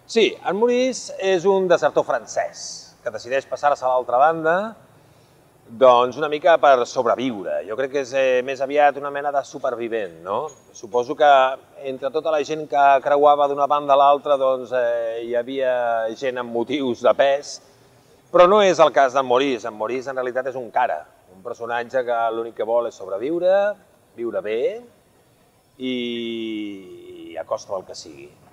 Sí, en Maurice és un desertor francès que decideix passar-se a l'altra banda doncs una mica per sobreviure. Jo crec que és més aviat una mena de supervivent, no? Suposo que entre tota la gent que creuava d'una banda a l'altra doncs hi havia gent amb motius de pes, però no és el cas d'en Maurice. En Maurice en realitat és un cara, un personatge que l'únic que vol és sobreviure, viure bé i a costa del que sigui.